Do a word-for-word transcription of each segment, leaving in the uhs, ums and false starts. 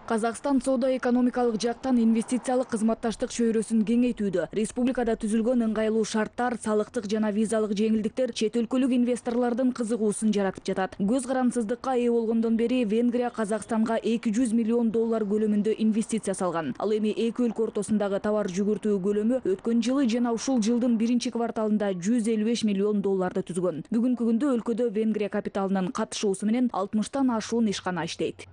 Казакстан соода-экономикалык жактан инвестициялык кызматташтык чөйрөсүн кеңейтүүдө. Республикада түзүлгөн ыңгайлуу шарттар, салыктык жана визалык жеңилдиктер чет өлкөлүк инвесторлордун кызыгуусун жаратып жатат. Көз карансыздыкка ээ болгондон бери Венгрия Казакстанга эки жүз миллион доллар көлөмүндө инвестиция салган. Ал эми эки өлкө ортосундагы товар жүгүртүү көлөмү өткөн жылы жана ушул жылдын биринчи кварталында жүз элүү беш миллион долларды түзгөн. Бүгүнкү күндө өлкөдө Венгрия капиталынын катышуусу менен алтымыштан ашуун ишкана иштейт.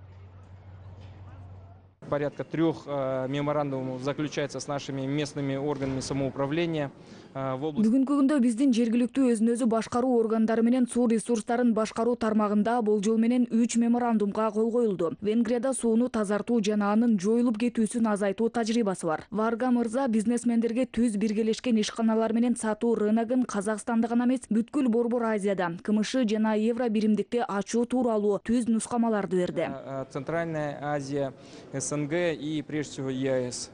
Порядка трех э, меморандумов заключается с нашими местными органами самоуправления. Э, в области... Бүгүнкү күндө биздин жергиликтүү өзүн өзү башкаруу органдары менен суу ресурстарын башкаруу тармагында болжол менен үч меморандумга кол коюлду. Венгрияда сууну тазартуу жана анын жоюлуп кетүүсүн азайтуу тажрыйбасы бар. Варга мырза бизнесмендерге түз биргелешкен ишканалар менен сатуу рыногун Казакстанда гана эмес, бүткүл Борбор Азияда, КМШ жана Евро биримдикти ачуу тууралуу түз нускамаларды берди. Центральная Азия, СНГ и прежде всего ЕАЭС.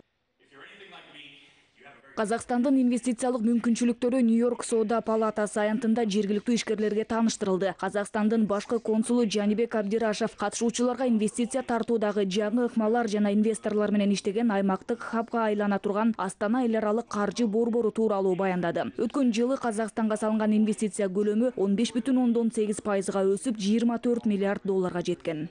Казакстандын инвестициялык мүмкүнчүлүктөрү Нью-Йорк соода палатасы аянтында жергиликтүү ишкерлерге тааныштырылды. Казакстандын башкы консулу Жанибек Абдирашев катышуучуларга инвестиция тартуудагы жаңы ыкмалар жана инвесторлор менен иштеген аймактык хабга айлана турган Астана эл аралык каржы борбору тууралуу баяндады. Өткөн жылы Казакстанга салынган инвестиция көлөмү он беш бүтүн ондон сегиз пайызга өсүп, жыйырма төрт миллиард долларга жеткен.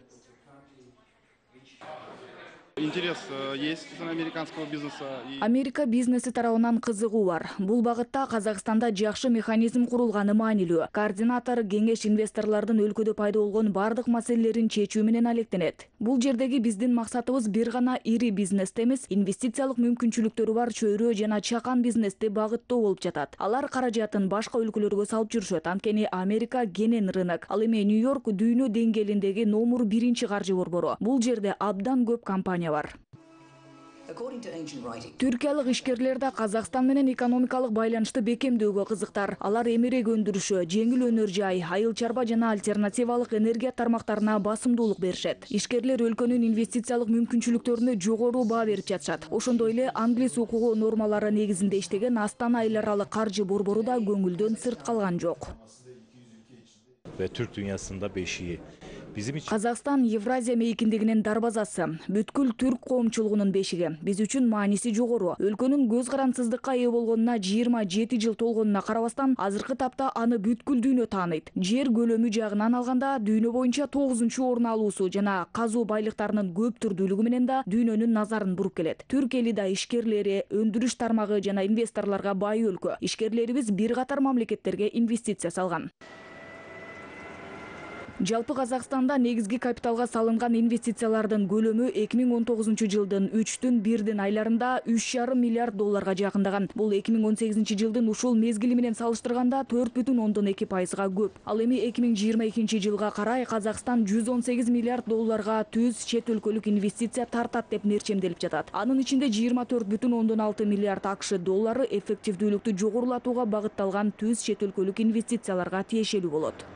Интерес есть американского бизнеса. Америка бизнеси тарабынан кызыгуу бар. Бул багытта Казакстанда жакшы механизм курулганы маанилүү. Координатор кеңеш инвесторлордун өлкөдө пайда болгон бардык маселелерин чечүү менен алектенет. Бул жердеги биздин максатыбыз бир гана ири бизнести эмес, инвестициялык мүмкүнчүлүктөрү бар чөйрө жана чакан бизнести багыттоо болуп жатат. Алар каражатын башка өлкөлөргө салып жүрүшөт. Анткени Америка кенен рынок. Ал эми Нью-Йорк дүйнө деңгээлиндеги номер биринчи каржы борбору. Бул жерде абдан көп компания бар. Түркиялык ишкерлер да Казакстан менен экономикалык байланышты бекемдөөгө кызыктар. Алар эмерек өндүрүшү, жеңил өнөр жай, айыл чарба жана альтернативалык энергия тармактарына басымдуулук беришет. Ишкерлер өлкөнүн инвестициялык мүмкүнчүлүктөрүнө жогору баа берип жатышат. Ошондой эле англис укугу нормалары негизинде иштеген Астана эл аралык каржы борбору да көңүлдөн сырт калган жок. Türk dünyasında beşiği. Казакстан Евразия мейкиндигинин дарбазасы, бүткүл түрк коомчулугунун бешиги. Биз үчүн мааниси жогору. Өлкөнүн көз карансыздыкка ээ болгонуна жыйырма жети жыл толгонуна карабастан, азыркы тапта аны бүткүл дүйнө тааныйт. Жер көлөмү жагынан алганда дүйнө боюнча тогузунчу орун алуусу жана казуу байлыктарынын көп түрдүүлүгү менен да дүйнөнүн назарын буруп келет. Түрк эли да ишкерлери, өндүрүш тармагы жана инвесторлорго бай өлкө. Ишкерлерибиз бир катар мамлекеттерге инвестиция салган. Жалпы Казакстанда негизги капиталга салынган инвестициялардын көлөмү эки миң он тогузунчу жылдын үчтүн бирдин айларында үч жарым миллиард долларга жакындаган. Бул эки миң он сегизинчи жылдын ушул мезгили менен салыштырганда төрт бүтүн ондон эки пайызга көп. Ал эми эки миң жыйырма экинчи жылга карай Казакстан жүз он сегиз миллиард долларга түз чет өлкөлүк инвестиция тартат деп мерчемделип жатат. Анын ичинде жыйырма төрт бүтүн ондон алты миллиард АКШ доллары эффективдүүлүктү жогорулатууга багытталган түз чет өлкөлүк инвестицияларга тиешелүү болот.